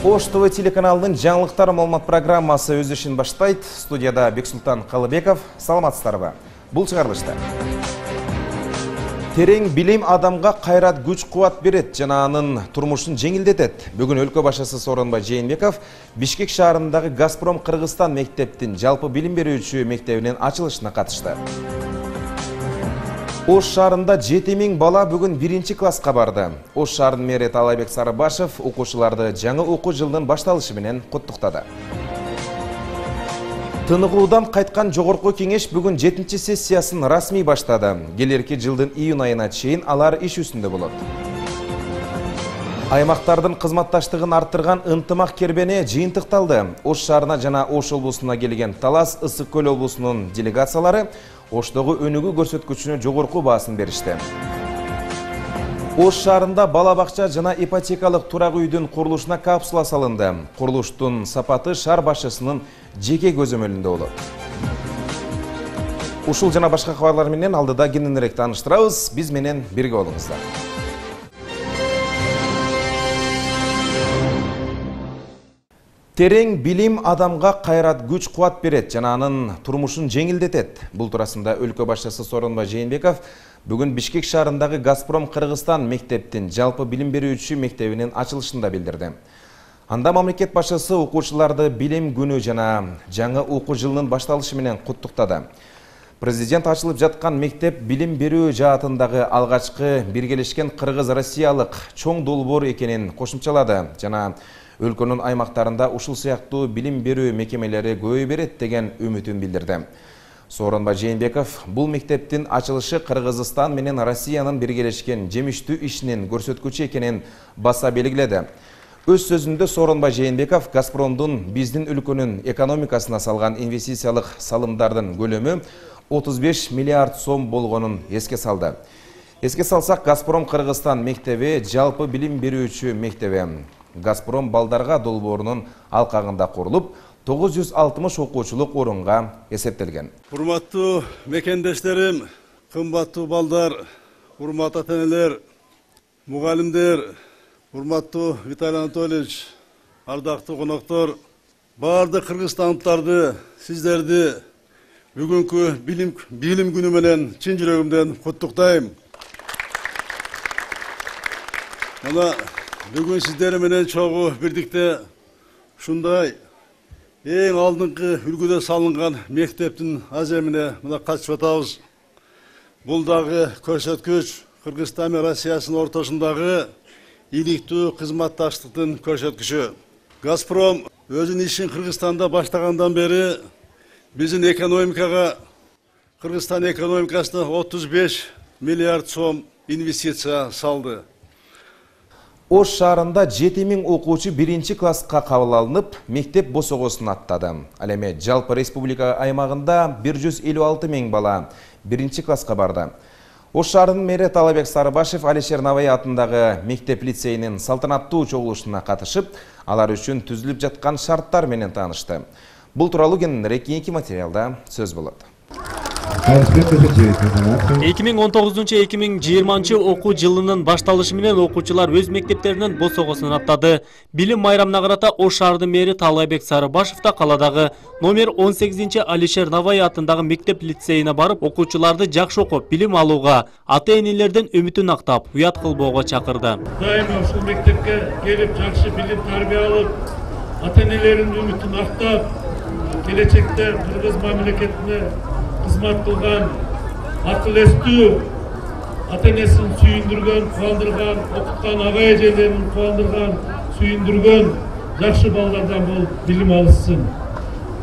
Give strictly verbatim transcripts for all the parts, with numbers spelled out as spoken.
Ош ТВ телеканалынын жаңылыктар маалымат программасы өз ишин баштайт. Студияда Бексултан Калыбеков. Саламатсыздарбы? Бул чыгарылышта терең билим адамга кайрат, күч, кубат берет жана анын турмушун жеңилдетет. Бүгүн өлкө башчысы Сооронбай Жээнбеков Бишкек шаарындагы Газпром Кыргызстан мектептин жалпы билим берүүчү мектебинин ачылышына катышты. Ош шаарында жети миң бала бүгүн биринчи класска барды. Ош шаарынын мэри Таалайбек Сарыбашев окуучуларды жаңы окуу жылынын башталышы менен куттуктады. Тыныгуудан кайткан жогорку кеңеш бүгүн жетинчи сессиясын расмий баштады. Келерки жылдын июнь айына чейин алар иш үстүндө болот. Аймактардын кызматташтыгын арттырган ынтымак кербене жыйынтыкталды. Ош шаарына жана Ош облусуна келген Талас, Ысык көл облусунун делегациялары Оштогу өнүгүү көрсөткүчүнө жогорку баасын беришти. Ош шаарында бала бакча жана ипотекалык турак үйдүн курулушуна капсула салынды. Курулуштун сапаты шаар башчысынын жеке көзөмөлүндө болот. Ушул жана башка кабарлар менен алдыда кененирээк тааныштырабыз. Биз менен бирге болуңуздар. Терең билим адамга кайрат, күч, кубат берет жана анын турмушун жеңилдетет. Бул туурасында өлкө башчысы Сооронбай Жээнбеков бүгүн Бишкек шаарындагы Газпром Кыргызстан мектептин жалпы билим берүүчү мектебинин ачылышында билдирди. Анда мамлекет башчысы окуучуларды билим күнү жана жаңы окуу жылынын башталышы менен куттуктады. Президент ачылып жаткан мектеп билим берүү жаатындагы алгачкы биргелешкен кыргыз-россиялык чоң долбоор экенин кошумчалады жана өлкөнүн аймактарында ушул сыяктуу билим берүү мекемелери көбөй берет деген үмүтүн билдирди. Сооронбай Жээнбеков бул мектептин ачылышы Кыргызстан менен Россиянын биргелешкен жемиштүү ишинин көрсөткүчү экенин баса белгиледи. Өз сөзүндө Сооронбай Жээнбеков Газпромдун биздин өлкөнүн экономикасына салган инвестициялык салымдардын көлөмү отуз беш миллиард сом болгонун эске салды. Эске салсак, Газпром Кыргызстан мектеби жалпы билим берүүчү мектеби. Газпром балдарга долбоорунун алкагында курулуп, тогуз жүз алтымыш окуучулук орунга эсептелген. Урматтуу мекендештерим, кымбаттуу балдар, урматтуу ата-энелер, мугалимдер, урматтуу Виталий Анатольевич, ардактуу коноктор, баардык кыргызстандыктарды, сиздерди бүгүнкү билим билим күнү менен чын жүрөгүмдөн куттуктайм. Мына бүгүн сиздер менен чогуу бирдикте ушундай эң алдыңкы үлгүдө салынган мектептин аземине мына катышып атабыз. Бул дагы көрсөткүч Кыргызстан менен Россиянын ортосундагы иликтүү кызматташтыктын көрсөткүчү. Газпром өзүнүн ишин Кыргызстанда баштагандан бери биздин экономикага, Кыргызстан экономикасына отуз беш миллиард сом инвестиция салды. Ош шаарында жети миң окуучу биринчи класска кабыл алынып, мектеп босогосун аттады. Ал эми жалпы республика аймагында бир жүз элүү алты миң бала биринчи класска барды. Ош шаарынын мэри Таалайбек Сарыбашев Алишер Навай атындагы мектеп лицейинин салтанаттуу чогулушуна катышып, алар үчүн түзүлүп жаткан шарттар менен таанышты. Бул тууралуу кененирээк кийинки материалда сөз болот. эки миң он тогузунчу эки миң жыйырманчы окуу жылынын башталышы менен окуучулар өз мектептеринин босогосун аттады. Билим майрамына карата Ош шаарынын мэри Таалайбек Сарыбашев да каладагы номер он сегизинчи Алишер Навай атындагы мектеп лицейине барып, окуучуларды жакшы окуп, билим алууга, ата-энелердин үмүтүн актап, уят кылбоого чакырды. Дайыма ушул мектепке келип, жакшы билим тарбия алып, ата-энелердин үмүтүн актап, келечекте Кыргыз мамлекетине кызмат кылган, акыл эстүү, ата-энесин сүйүндүргөн, кубандырган, окуткан ага эжелерин кубандырган, сүйүндүргөн жакшы балдардан болуп билим алышсын.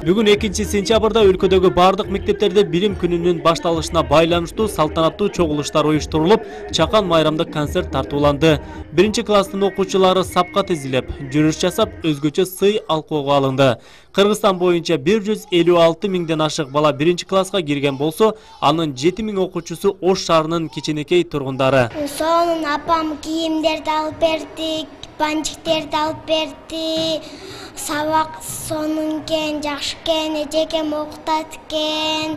Бүгүн экинчи сентябрда өлкөдөгү бардык мектептерде билим күнүнүн башталышына байланыштуу салтанаттуу чогулуштар уюштурулуп, чакан майрамдык концерт тартууланды. Биринчи класстын окуучулары сапка тизилип, жүрүш жасап, өзгөчө сый алкоого алынды. Кыргызстан боюнча бир жүз элүү алты миңден ашык бала биринчи класска кирген болсо, анын жети миң окуучусу Ош шаарынын кичинекей тургундары. Сонун апам кийимдерди алып берди, банчиктерди алып берди. Сабак сонун экен, жакшы экен, эжекем окутат экен.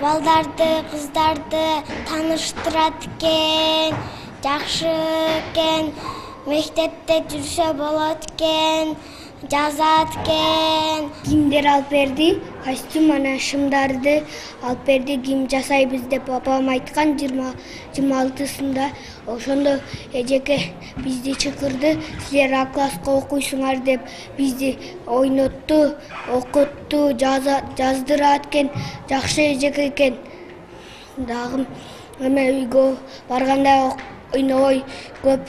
Балдарды, кыздарды тааныштырат экен. жакшы экен, мектепте жүрсө болот экен, жазат экен. Кимдер алып берди, костюм анан шымдарды алып берди, ким жасайбыз деп папам айткан жыйырма алтысында. Ошондо эжеке бизди чакырды, силер А класска окуйсуңар деп бизди ойнотту, окутту, жаздырат экен, жакшы эжеке экен. Дагы эме үйгө барганда ойногой көп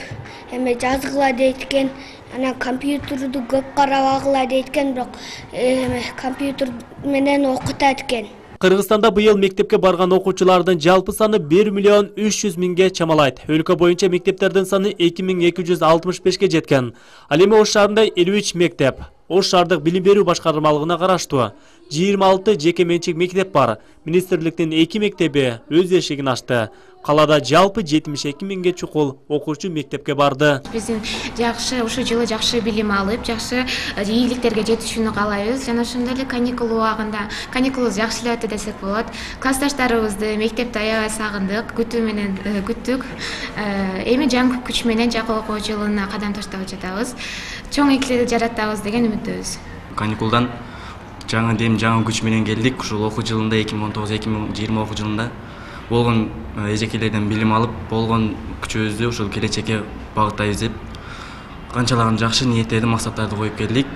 эме жазгыла дейт экен. Анан компьютерду көп карабагыла дейт экен, бирок эме компьютер менен окутат экен. Кыргызстанда быйыл мектепке барган окуучулардын жалпы саны бир миллион үч жүз миңге чамалайт. Өлкө боюнча мектептердин саны эки миң эки жүз алтымыш бешке жеткен. Ал эми Ош шаарында элүү үч мектеп, Ош шаардык билим берүү башкармалыгына караштуу жыйырма алты жеке менчик мектеп бар. Министрликтин эки мектеби өз эшигин ачты. Калада жалпы жетимиш эки миңге чукул окуучу мектепке барды. Биздин жакшы ушул жылы жакшы билим алып, жакшы ийгиликтерге жетишүүнү каалайбыз. Жана ошондой эле каникул убагында, каникулубуз жакшы эле өтө десек болот. Классташтарыбызды мектепте аябай сагындык, күтүү менен күттүк. Эми жаңы күч менен жакшы окуу жылына кадам таштап жатабыз. Чоң ийгилик жаратабыз деген үмүттөбүз. Каникулдан жаңы дем, жаңы күч менен келдик. Ушул окуу жылында эки миң он тогуз эки миң жыйырма окуу жылында болгон эжекелерден билим алып, болгон күчүбүздү ушул келечекке багыттайбыз деп канчалаган жакшы ниеттерди, максаттарды коюп келдик.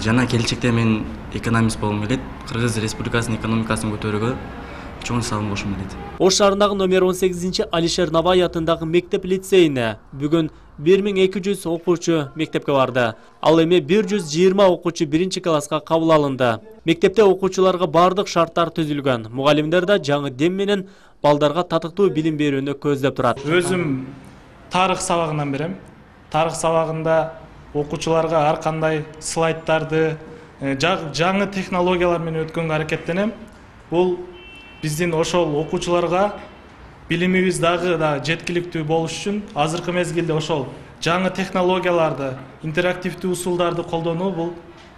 Жана келечекте мен экономист болгум келет. Кыргыз Республикасынын экономикасын көтөрүүгө чоң салым кошкум келет. Ош шаарындагы номер он сегизинчи Алишер Набай атындагы мектеп лицейине бүгүн бир миң эки жүз окуучу мектепке барды. Ал эми бир жүз жыйырма окуучу биринчи класска кабыл алынды. Мектепте окуучуларга бардык шарттар түзүлгөн. Мугалимдер да жаңы дем менен балдарга татыктуу билим берүүнү көздөп турат. Өзүм тарых сабагынан берем. Тарых сабагында окуучуларга ар кандай слайдтарды, жаңы технологиялар менен өткөнгө аракеттенем. Бул биздин ошол окуучуларга билимибиз дагы да жеткиликтүү болуш үчүн азыркы мезгилде ошол жаңы технологияларды, интерактивдүү усулдарды колдонуу бул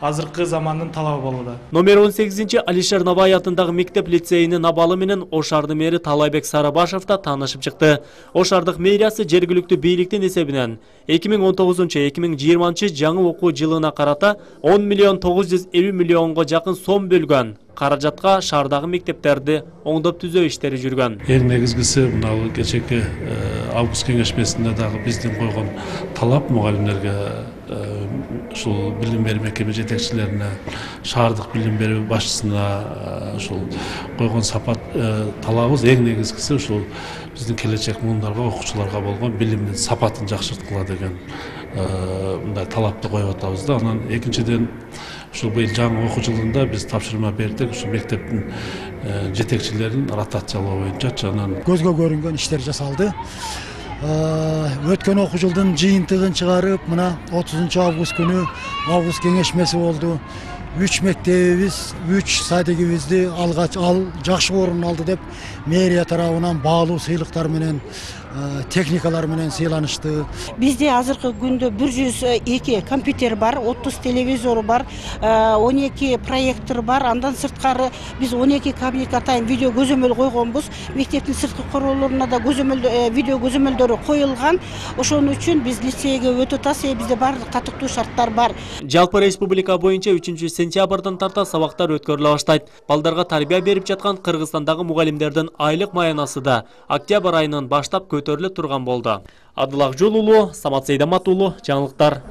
азыркы замандын талабы болууда. Номер он сегизинчи Алишер Набай атындагы мектеп лицейинин абалы менен Ош шаардын мэри Талайбек Сарыбашев да таанышып чыкты. Ош шаардык мэриясы жергиликтүү бийликтин эсебинен эки миң он тогузунчу эки миң жыйырманчы жаңы окуу жылына карата он миллион тогуз жүз элүү миллионго жакын сом бөлгөн. Каражатка шаардагы мектептерди оңдоп түзөө иштери жүргөн. Эң негизгиси мына кечээки август кеңешмесинде дагы биздин койгон талап мугалимдерге, ушул билим берүү мекеме жетекчилерине, шаардык билим берүү башчысына ушул койгон сапат талабыбыз эң негизгиси ушул биздин келечек муундарга, окуучуларга болгон билимдин сапатын жакшырткыла деген мындай талапты коюп атабыз да. Анан экинчиден ушул быйыл жаңы окуу жылында биз тапшырма бердик, ушул мектептин жетекчилерин ротациялоо боюнча. Анан көзгө көрүнгөн иштер жасалды. Өткөн окуу жылдын жыйынтыгын чыгарып, мына отузунчу август күнү август кеңешмеси болду. Үч мектебибиз, үч садигибизди алгач ал жакшы орун алды деп мэрия тарабынан баалуу сыйлыктар менен, техникалар менен сыйланышты. Бизде азыркы күндө бир жүз эки компьютер бар, отуз телевизор бар, он эки проектор бар. Андан сырткары биз он эки кабинет атайын видео көзөмөл койгонбуз. Мектептин сырткы королоруна да көзөмөл видео көзөмөлдөрү коюлган. Ошон үчүн биз лицейге өтө тас, бизде бардык татыктуу шарттар бар. Жалпы республика боюнча үчүнчү сентябрдан тарта сабактар өткөрүлө баштайт. Балдарга тарбия берип жаткан Кыргызстандагы мугалимдердин айлык маянасы да октябрь айынан баштап көтөрүлө турган болду. Адыл Жол уулу, Самат Сейдамат уулу, жаңылыктар.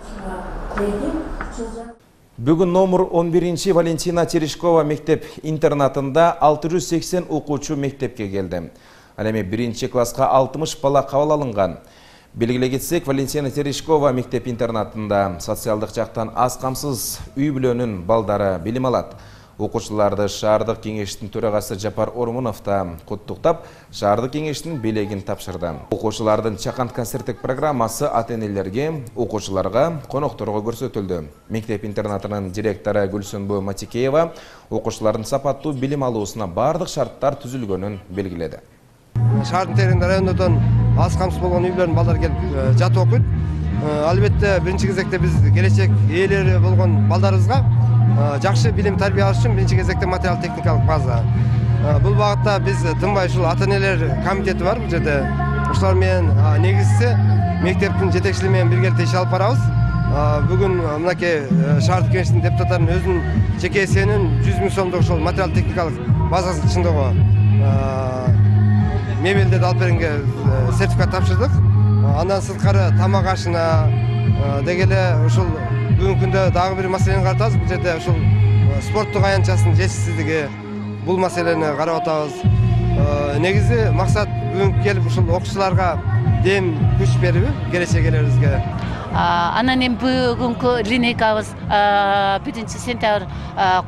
Бүгүн номер он биринчи Валентина Терешкова мектеп интернатында алты жүз сексен окуучу мектепке келди. Ал эми биринчи класска алтымыш бала кабыл алынган. Белгилей кетсек, Валентина Терешкова мектеп интернатында социалдык жактан аз камсыз үй бүлөнүн балдары билим алат. Окуучуларды шаардык кеңештин төрагасы Жапар Ормунов да куттуктап, шаардык кеңештин белегин тапшырды. Окуучулардын чакан концерттик программасы ата-энелерге, окуучуларга, конокторго көрсөтүлдү. Мектеп интернатынын директору Гүлсөнбө Матикеева окуучулардын сапаттуу билим алуусуна бардык шарттар түзүлгөнүн белгиледи. Шаардын теринде райондордон аз камсыз болгон үй бүлөнүн балдары келип жатып окуйт. Албетте биринчи кезекте биз келечек ээлери болгон балдарыбызга жакшы билим тарбия алыш үчүн биринчи кезекте материал техникалык база. Бул багытта биз тынбай ушул ата-энелер комитети бар бул жерде. окуучулар менен негизчиси мектептин жетекчилиги менен биргеликте иш алып барабыз. Бүгүн мынакей шаардык кеңештин депутаттарынын өзүнүн жеке эсебинен жүз миң сомдук ошол материал техникалык базасын чындоого мебелдерди алып бергенге сертификат тапшырдык. Андан сырткары тамак ашына деги эле ушул бүгүнкү күндө дагы бир маселени каратабыз. Бул жерде ушул спорттук аянтчасынын жетишсиздиги, бул маселени карап атабыз. Негизи максат бүгүн келип ушул окуучуларга дем күч берип келечек элебизге. Анан эми бүгүнкү линейкабыз биринчи сентябрь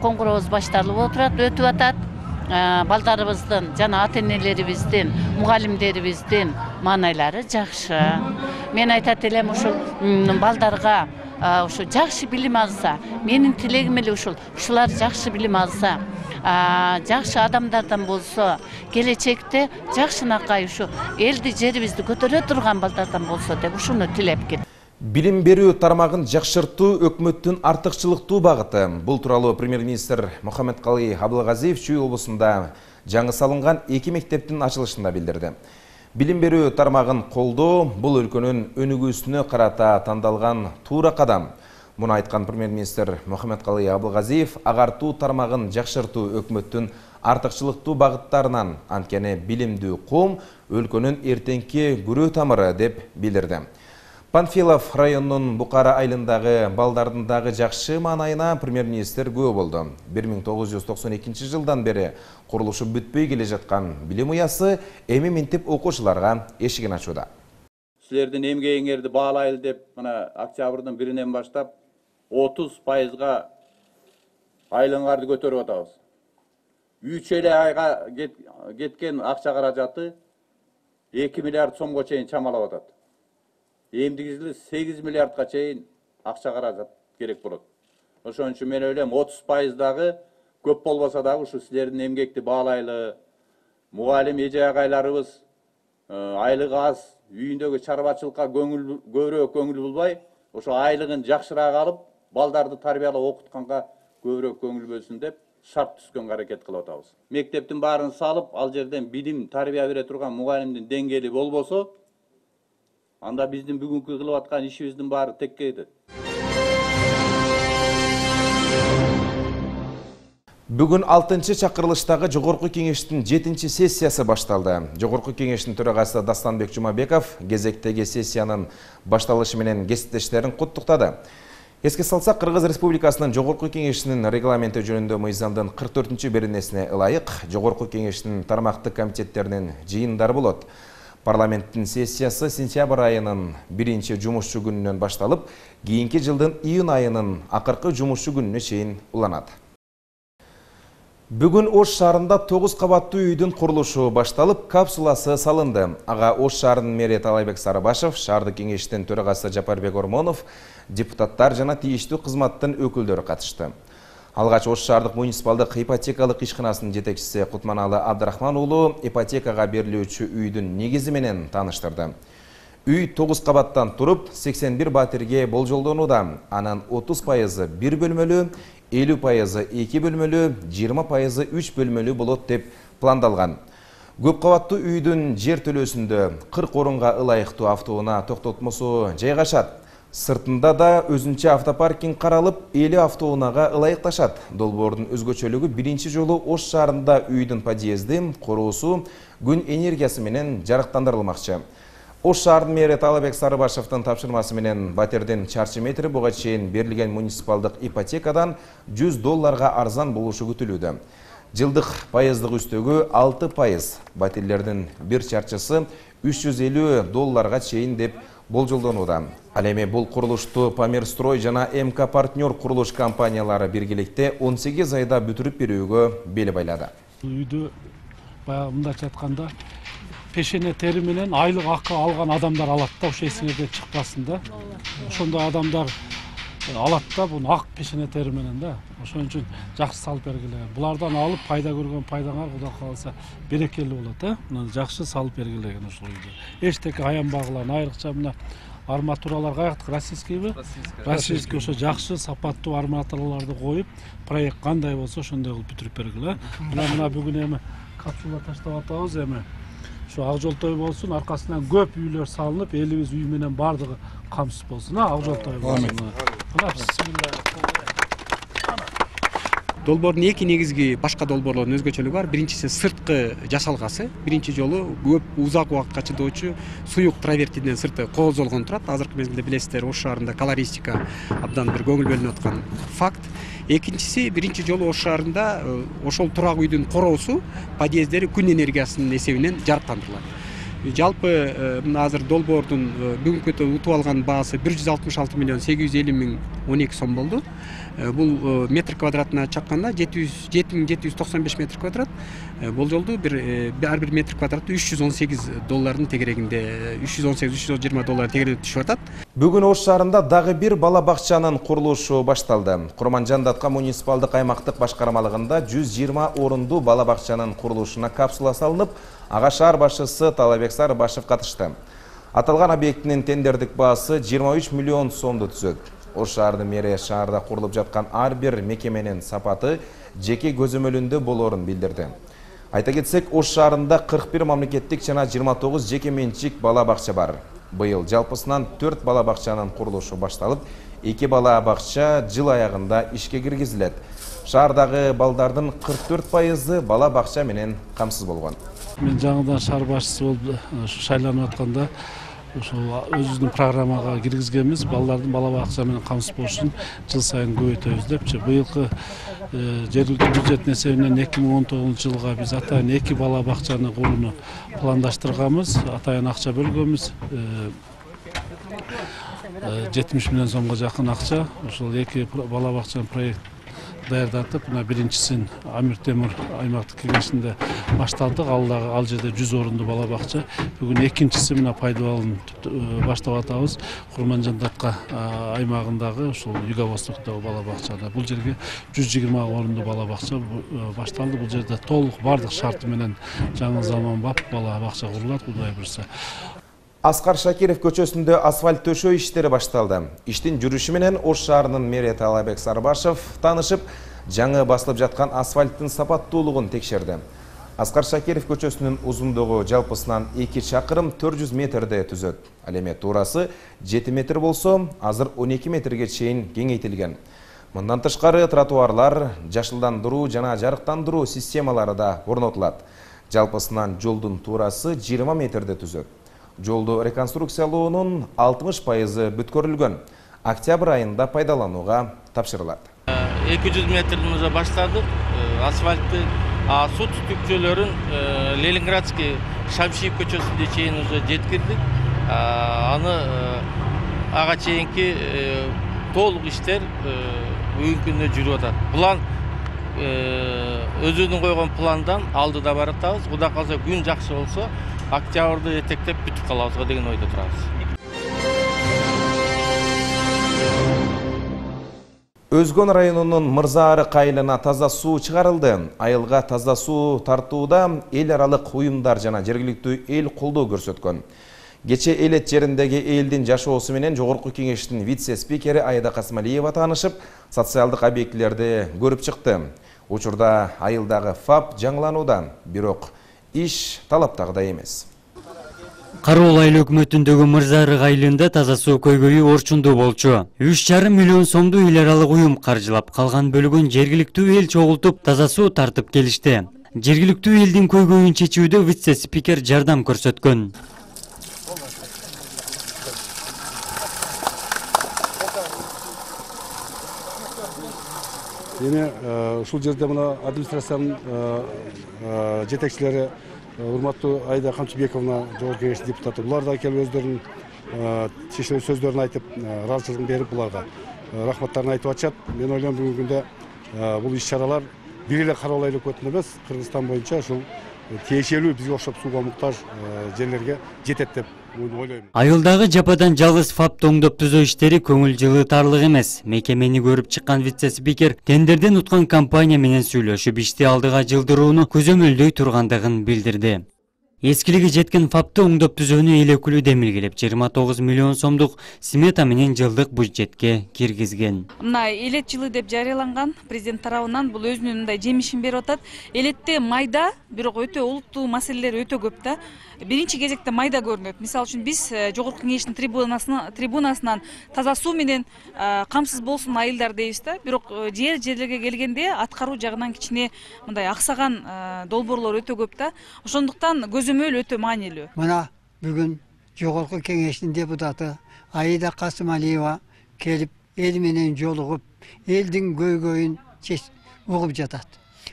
коңгурообуз башталып отурат, өтүп атат. Балдарыбыздын жана ата энелерибиздин, мугалимдерибиздин маанайлары жакшы. Мен айтат элем ушул балдарга ушу жакшы билим алса, менин тилегим эле ушул, ушулар жакшы билим алса, жакшы адамдардан болсо, келечекте жакшынакай ушу элди, жерибизди көтөрө турган балдардан болсо деп ушуну тилеп келем. Билим берүү тармагын жакшыртуу өкмөттүн артыкчылыктуу багыты. Бул тууралуу премьер-министр Мухаммедкалый Абылгазиев Чүй облусунда жаңы салынган эки мектептин ачылышында билдирди. Билим берүү тармагын колдоо бул өлкөнүн өнүгүүсүнө карата тандалган туура кадам. Муну айткан премьер-министр Мухаммедкалый Абылгазиев агартуу тармагын жакшыртуу өкмөттүн артыкчылыктуу багыттарынан, анткени билимдүү ком өлкөнүн эртеңки күрөө тамыры деп билдирди. Панфилов районунун Букара айылындагы балдардын дагы жакшы маанайына премьер-министр күбө болду. бир миң тогуз жүз токсон экинчи жылдан бери курулушу бүтпөй келе жаткан билим уясы эми минтип окуучуларга эшигин ачууда. Силердин эмгегиңерди баалайлы деп, мына октябрдын биринен баштап отуз пайызга айлыгыңарды көтөрүп атабыз. үч эле айга кеткен акча каражаты эки миллиард сомго чейин чамалап атат. Эмдигизиле сегиз миллиардга чейин акча каражат керек болот. Ошон үчүн мен ойлойм отуз пайыз дагы көп болбосо дагы ушу силердин эмгекти баалайлы, мугалим эже агайларыбыз айлыгы аз, үйүндөгү чарбачылыкка көңүл көбүрөөк көңүл булбай, ошо айлыгын жакшыраак алып, балдарды тарбиялап окутканга көбүрөөк көңүл бөлсүн деп шарт түзгөнгө аракет кылып атабыз. Мектептин баарын салып, ал жерден билим, тарбия бере турган мугалимдин деңгээли болбосо, анда биздин бүгүнкү кылып аткан ишибиздин баары текке кетет. Бүгүн алтынчы чакырылыштагы Жогорку кеңештин жетинчи сессиясы башталды. Жогорку кеңештин төрагасы Дастанбек Жумабеков кезектеги сессиянын башталышы менен кесиптештерин куттуктады. Эске салсак, Кыргыз Республикасынын Жогорку кеңешинин регламенти жөнүндө мыйзамдын кырк төртүнчү беренесине ылайык Жогорку кеңештин тармактык комитеттеринин жыйындары болот. Парламенттин сессиясы сентябрь айынын биринчи жумушчу күнүнөн башталып, кийинки жылдын июнь айынын акыркы жумушчу күнүнө чейин уланат. Бүгүн Ош шаарында тогуз кабаттуу үйдүн курулушу башталып, капсуласы салынды. Ага Ош шаарынын мэри Талайбек Сарыбашев, шаардык кеңештин төрагасы Жапарбек Ормонов, депутаттар жана тийиштүү кызматтын өкүлдөрү катышты. Алгач Ош шаардык муниципалдык ипотекалык ишканасынын жетекчиси Кутманалы Абдрахман уулу ипотекага берилүүчү үйдүн негизи менен тааныштырды. Үй тогуз кабаттан туруп, сексен бир батирге болжолдонууда. Анын отуз пайызы бир бөлмөлүү, элүү пайызы эки бөлмөлүү, жыйырма пайызы үч бөлмөлүү болот деп пландалган. Көп кабаттуу үйдүн жер төлөөсүндө кырк орунга ылайыктуу автоунаа токтотмосу жайгашат. Сыртында да өзүнчө автопаркинг каралып, элүү автоунаага ылайыкташат. Долбоордун өзгөчөлүгү биринчи жолу Ош шаарында үйдүн подъезди, куруусу күн энергиясы менен жарыктандырылмакчы. Ош шаарынын мэри Талайбек Сарыбашевдин тапшырмасы менен батирдин чарчы метри буга чейин берилген муниципалдык ипотекадан жүз долларга арзан болушу күтүлүүдө. Жылдык пайыздык үстөгү алты пайыз, батирлердин бир чарчысы үч жүз элүү долларга чейин деп болжолдонууда. Ал эми бул курулушту Памирстрой жана МК партнер курулуш компаниялары биргеликте он сегиз айда бүтүрүп берүүгө бел байлады. Үйдү баягы мындайча айтканда пешене тери менен айлык акы алган адамдар алат да, ошо эсиңерде чыкпасын да. Ошондой адамдар алат да, буну ак пешене тери менен да. Ошон үчүн жакшы салып бергиле. Булардан алып пайда көргөн пайдаңар Кудай кааласа берекелүү болот, э? Мына жакшы салып бергилеген ушул үйдү. Эчтеке аянбагыла, айрыкча мына арматуралар каяктык, российскийби? Российский ошо жакшы сапаттуу арматураларды коюп, проект кандай болсо ошондой кылып бүтүрүп бергиле. Мына мына бүгүн эми капсула таштап атабыз эми. Şu Акжолтой болсун, аркасынан көп үйлөр салынып, элибиз үй менен бардыгы камсыз болсун. Акжолтой болсун. Долбоордун эки негизги башка долбоорлордун өзгөчөлүгү бар. Биринчиси сырткы жасалгасы. Биринчи жолу көп узак убакытка чыдоочу суюк травертиден сырты кооздолгон турат. Азыркы мезгилде билесиздер, Ош шаарында колористика абдан бир көңүл бөлүнүп аткан факт. Экинчиси, биринчи жолу Ош шаарында ошол турак үйдүн короосу, подъездери күн энергиясынын эсебинен жарыктандырылат. Жалпы мына азыр долбоордун бүгүнкү утуп алган баасы бир жүз алтымыш алты миллион сегиз жүз элүү миң он эки сом болду. Бул метр квадратына чакканда жети миң жети жүз токсон беш метр квадрат. Болжолду бир ар бир метр квадраты үч жүз он сегиз доллардын тегерегинде, үч жүз он сегиз үч жүз жыйырма доллар тегерегинде түшүп атат. Бүгүн Ош шаарында дагы бир бала бакчанын курулушу башталды. Курманжан Датка муниципалдык аймактык башкармалыгында жүз жыйырма орунду бала бакчанын курулушуна капсула салынып, ага шаар башчысы Талабек Сарыбашев катышты. Аталган объекттин тендердик баасы жыйырма үч миллион сомду түзөт. Ош шаардын мэри шаарда курулуп жаткан ар бир мекеменин сапаты жеке көзөмөлүндө болоорун билдирди. Айта кетсек, Ош шаарында кырк бир мамлекеттик жана жыйырма тогуз жеке менчик бала бакча бар. Быйыл жалпысынан төрт бала бакчанын курулушу башталып, эки бала бакча жыл аягында ишке киргизилет. Шаардагы балдардын кырк төрт пайызы бала бакча менен камсыз болгон. Мен жаңыдан шаар башчысы болуп шайланып атканда ошол өзүбүздүн программага киргизгенбиз. Балдардын бала бакча менен камсыз болушун жыл сайын көбөйтөбүз депчи. Быйылкы жергиликтүү бюджеттин эсебинен эки миң он тогузунчу жылга биз атайын эки бала бакчаны курууну пландаштырганбыз. Атайын акча бөлгөнбүз. жетимиш миллион сомго жакын акча. Ошол эки бала бакчанын проект даярдатып, мына биринчисин Амир Темир аймактык кеңешинде башталдык. Ал дагы ал жерде жүз орунду бала бакча. Бүгүн экинчиси мына пайдаланып баштап атабыз. Курманжан Датка аймагындагы ушул Юго Востоктогу бала бакчада. Бул жерге жүз жыйырма орунду бала бакча башталды. Бул жерде толук бардык шарты менен жаңы заманбап бала бакча курулат, Кудай буйрса. Аскар Шакиров көчөсүндө асфальт төшөө иштери башталды. Иштин жүрүшү менен Ош шаарынын мэри Талабек Сарыбашев таанышып, жаңы басылып жаткан асфальттын сапаттуулугун текшерди. Аскар Шакиров көчөсүнүн узундугу жалпысынан эки чакырым төрт жүз метрде түзөт. Ал эми туурасы жети метр болсо, азыр он эки метрге чейин кеңейтилген. Мындан тышкары тротуарлар, жашылдандыруу жана жарыктандыруу системалары да орнотулат. Жалпысынан жолдун туурасы жыйырма метрде түзөт. Жолду реконструкциялоонун алтымыш пайызы бүткөрүлгөн. Октябрь айында пайдаланууга тапшырылат. эки жүз метрден уже баштадык. Асфальтты, а су түтүкчөлөрүн Ленинградский Шамшиев көчөсүнө чейин уже жеткирдик. Аны ага чейинки толук иштер бүгүнкү күндө жүрүп атат. План өзүнүн койгон пландан алдыда баратабыз. Кудай калса күн жакшы болсо, октябрды этектеп бүтүп калабызга деген ойдо турабыз. Өзгөн районунун Мырзаары кайылына таза суу чыгарылды. Айылга таза суу тартууда эл аралык уюмдар жана жергиликтүү эл колдоо көрсөткөн. Кече Элет жериндеги элдин жашоосу менен Жогорку кеңештин вице-спикери Айда Касмалиева таанышып, социалдык объектилерди көрүп чыкты. Учурда айылдагы ФАП жаңыланууда, бирок иш талаптагыдай эмес. Кароол айыл өкмөтүндөгү Мырзаары кайылында таза суу көйгөйү орчундуу болчу. үч жарым миллион сомду эл аралык уюм каржылап, калган бөлүгүн жергиликтүү эл чогултуп таза суу тартып келишти. Жергиликтүү элдин көйгөйүн чечүүдө вице-спикер жардам көрсөткөн. Эми ушул жерде мына администрациянын жетекчилери урматтуу Айда Камчыбековна, Жогорку кеңештин депутаты, булар да келип өздөрүнүн чечилүү сөздөрүн айтып, ыраазычылыгын берип, буларга рахматтарын айтып атышат. Мен ойлойм бүгүнкү күндө бул иш-чаралар бир эле Кароол айыл өкмөтүнө эмес, Кыргызстан боюнча ушул тиешелүү бизге окшоп сууга муктаж жерлерге жетет деп ойлойм. Айылдагы жападан жалгыз ФАП тоңдоп түзөө иштери көңүл жылытарлык эмес. Мекемени көрүп чыккан вице-спикер тендерден уткан компания менен сүйлөшүп, ишти алдыга жылдырууну көзөмөлдөй тургандыгын билдирди. Эскилиги жеткен фапты оңдоп түзүүнү эл өкүлү демилгелеп жыйырма тогуз миллион сомдук смета менен жылдык бюджетке киргизген. Мына элет жылы деп жарыяланган президент тарабынан бул өзүнүн мындай жемишин берип атат. Элетте майда, бирок өтө олуттуу маселелер өтө көп да. Биринчи кезекте майда көрүнөт. Мисалы үчүн биз жогорку кеңештин трибунасынан трибунасынан таза суу менен камсыз болсун айылдар дейбиз да. Бирок жер жерлерге келгенде аткаруу жагынан кичине мындай аксаган долбоорлор өтө көп да. Ошондуктан көзөмөл өтө маанилүү. Мына бүгүн жогорку кеңештин депутаты Аида Касымалиева келип эл менен жолугуп, элдин көйгөйүн угуп жатат.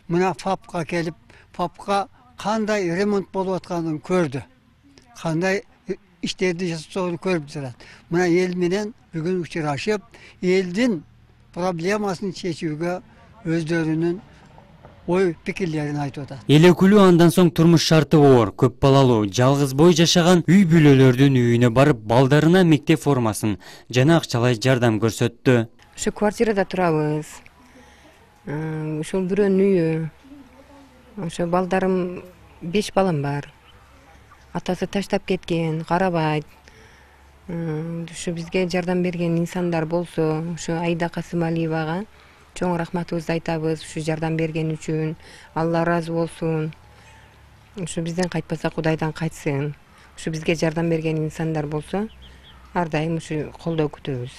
Мына фапка келип, фапка кандай ремонт болуп атканын көрдү. Кандай иштерди жасоонун көрүп жатат. Мына эл менен бүгүн учурашып, элдин проблемасын чечүүгө өздөрүнүн ой пикирлерин айтып атат. Эл өкүлү андан соң турмуш шарты оор, көп балалуу, жалгыз бой жашаган үй бүлөлөрдүн үйүнө барып, балдарына мектеп формасын жана акчалай жардам көрсөттү. Ошо квартирада турабыз. Ошол бирөөнүн үйү. Ошо балдарым беш балам бар. Атасы таштап кеткен, карабайт. Ошо бизге жардам берген инсандар болсо, ошо Аида Касымалиевага чоң рахматыбызды айтабыз. Ушу жардам берген үчүн Алла ыраазы болсун. Ушу бизден кайтпаса Кудайдан кайтсын. Ушу бизге жардам берген инсандар болсо, ар дайым ушу колдоо күтөбүз.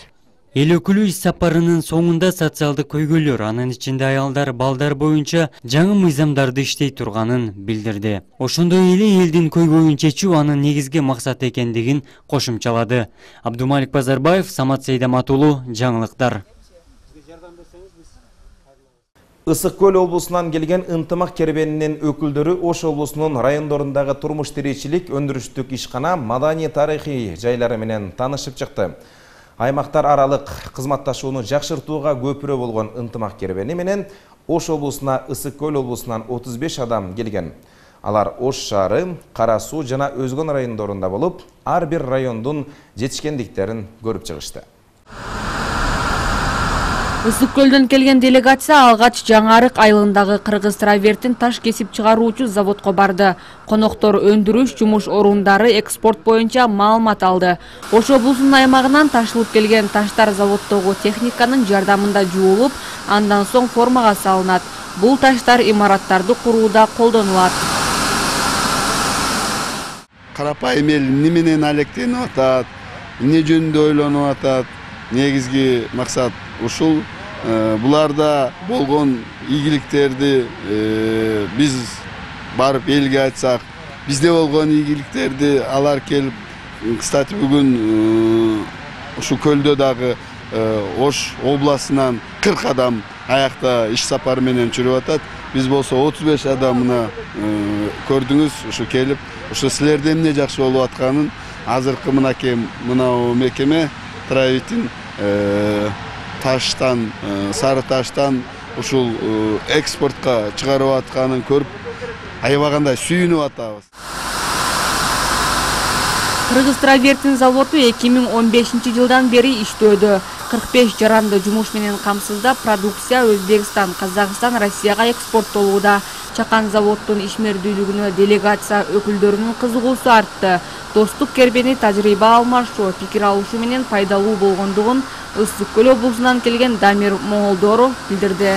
Эл өкүлү иш сапарынын соңунда социалдык көйгөйлөр, анын ичинде аялдар, балдар боюнча жаңы мыйзамдарды иштей турганын билдирди. Ошондой эле элдин көйгөйүн чечүү анын негизги максаты экендигин кошумчалады. Абдумалик Базарбаев, Самат Сейдамат уулу, жаңылыктар. Ысык көл облусунан келген ынтымак кербенинин өкүлдөрү Ош облусунун райондорундагы турмуш тиричилик, өндүрүштүк ишкана, маданий тарыхый жайлары менен таанышып чыкты. Аймактар аралык кызматташууну жакшыртууга көпүрө болгон ынтымак кербени менен Ош облусуна Ысык көл облусунан отуз беш адам келген. Алар Ош шаары, Кара Суу жана өзгөн райондорунда болуп, ар бир райондун жетишкендиктерин көрүп чыгышты. Ысык көлдөн келген делегация алгач Жаңы Арык айылындагы кыргыз травертин таш кесип чыгаруучу заводко барды. Коноктор өндүрүш, жумуш орундары, экспорт боюнча маалымат алды. Ош облусунун аймагынан ташылып келген таштар заводдогу техниканын жардамында жуулуп, андан соң формага салынат. Бул таштар имараттарды курууда колдонулат. Карапайым эл эмне менен алектенип атат, эмне жөнүндө ойлонуп атат? Негизги максат ушул. Буларда болгон ийгиликтерди биз барып элге айтсак, бизде болгон ийгиликтерди алар келип, кстати бүгүн ушул көлдө дагы Ош областынан кырк адам аякта иш сапары менен жүрүп атат. Биз болсо отуз беш адамына көрдүңүз, ушу келип, ушу силерде эмне жакшы болуп атканын азыркы мынакей мынау мекеме Травертин таштан, сары таштан ушул экспортко чыгарып атканын көрүп, аябагандай сүйүнүп атабыз. Кыргыз травертин заводу эки миң он бешинчи жылдан бери иштөөдө. кырк беш жаранды жумуш менен камсыздап, продукция Өзбекстан, Казакстан, Россияга экспорттолууда. Чакан заводдун ишмердүүлүгүнө делегация өкүлдөрүнүн кызыгуусу артты. Достук кербени тажрыйба алмашуу, пикир алышуу менен пайдалуу болгондугун Ысык көл облусунан келген Дамир Моңолдоров билдирди.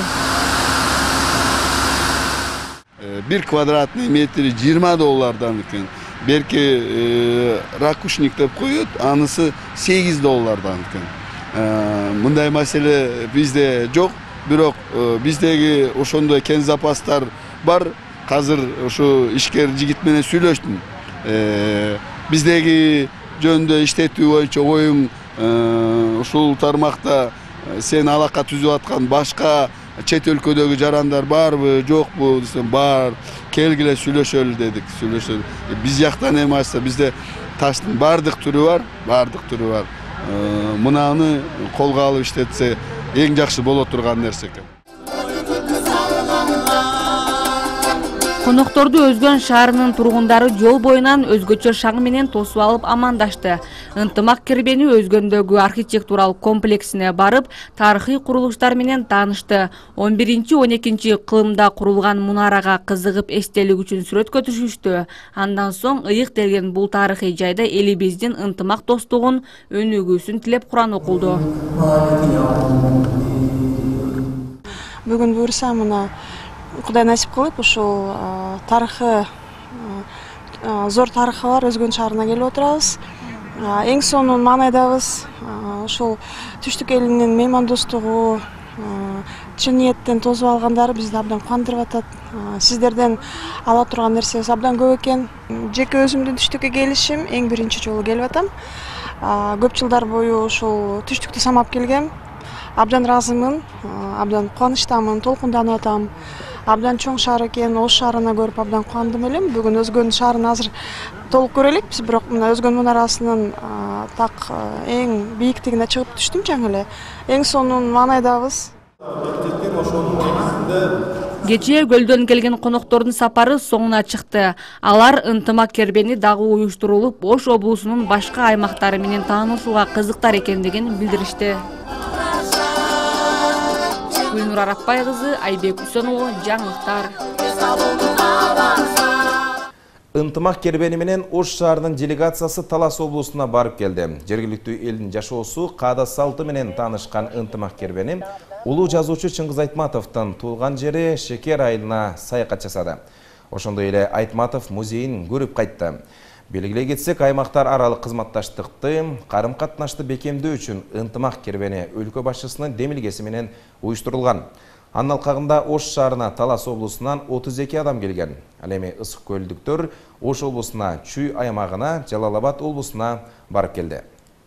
бир квадратный метри жыйырма доллардан экен. Берки ракушник деп коет, анысы сегиз доллардан экен. Мындай маселе бизде жок, бирок биздеги ошондой кен запастар бар. Азыр ушу ишкер жигит менен сүйлөштүм. Биздеги жөнүндө иштетүү боюнча оюң ушул тармакта сен алака түзүп аткан башка чет өлкөдөгү жарандар барбы, жокпу десем, бар. Келгиле сүйлөшөлү дедик, сүйлөшөлү. Биз жактан эми ачса бизде таштын бардык түрү бар, бардык түрү бар. Мынаны колго алып иштетсе эң жакшы боло турган нерсе экен. Конокторду Өзгөн шаарынын тургундары жол боюнан өзгөчө шаң менен тосуп алып амандашты. Ынтымак кербени өзгөндөгү архитектуралык комплексине барып, тарыхый курулуштар менен таанышты. он биринчи он экинчи кылымда курулган мунарага кызыгып эстелик үчүн сүрөткө түшүштү. Андан соң ыйык делген бул тарыхый жайда элибиздин ынтымак достугун, өнүгүүсүн тилеп Куран окулду. Бүгүн буюрса мына Кудай насип кылып ушул тарыхы зор тарыхы бар Өзгөн шаарына келип отурабыз. Эң сонун маанайдабыз. Ушул түштүк элинин меймандостугу, чын ниеттен тосуп алгандары бизди абдан кубандырып атат. Сиздерден ала турган нерсебиз абдан көп экен. Жеке өзүмдүн түштүккө келишим эң биринчи жолу келип атам. Көп жылдар бою ушул түштүктү самап келгем. Абдан ыраазымын, абдан кубанычтамын, толкунданып атам. Абдан чоң шаар экен, Ош шаарына көрүп абдан кубандым элем. Бүгүн Өзгөн шаарын азыр толук көрө элекпиз, бирок мына Өзгөн мунарасынын так эң бийиктигине чыгып түштүм жаңы эле. Эң сонун маанайдабыз. Кечээ көлдөн келген коноктордун сапары соңуна чыкты. Алар ынтымак кербени дагы уюштурулуп, Ош облусунун башка аймактары менен таанышууга кызыктар экендигин билдиришти. Гүлнур Арапбай кызы, Айбек Үсөнұлы, жаңылыктар. Ынтымак кербени менен Ош шаарынын делегациясы Талас облусуна барып келди. Жергиликтүү элдин жашоосу, каада салты менен таанышкан ынтымак кербени улуу жазуучу Чыңгыз Айтматовдун туулган жери Шекер айылына саякат жасады. Ошондой эле Айтматов музейин көрүп кайтты. Белгилей кетсек, аймактар аралык кызматташтыкты, карым катнашты бекемдөө үчүн ынтымак кербени өлкө башчысынын демилгеси менен уюштурулган. Анын алкагында Ош шаарына Талас облусунан отуз эки адам келген. Ал эми ысык көлдүктөр Ош облусуна, Чүй аймагына, Жалал Абад облусуна барып келди.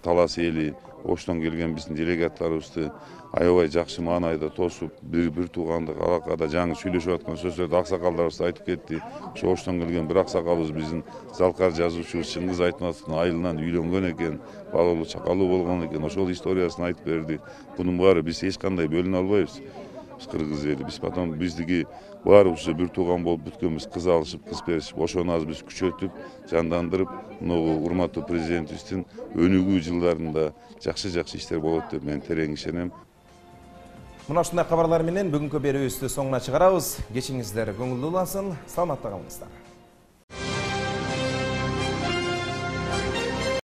Талас эли, Оштон келген биздин делегаттарыбызды аябай жакшы маанайда тосуп, бир бир туугандык алакада жаңы сүйлөшүп аткан сөздөрдү аксакалдарыбыз айтып кетти. Ошо Оштон келген бир аксакалыбыз биздин залкар жазуучубуз Чыңгыз Айтматовдун айылынан үйлөнгөн экен, балалуу чакалуу болгон экен. Ошол историясын айтып берди. Бунун баары биз эч кандай бөлүнө албайбыз. Биз кыргыз эли, биз потом биздики баарыбызды бир тууган болуп бүткөнбүз, кыз алышып, кыз беришип, ошону азыр биз күчөтүп, жандандырып, мына урматтуу президентибиздин өнүгүү жылдарында жакшы-жакшы иштер болот деп мен терең ишенем. Мына ушундай кабарлар менен бүгүнкү берүүбүздү соңуна чыгарабыз. Кечиңиздер көңүлдүү улансын, саламатта калыңыздар.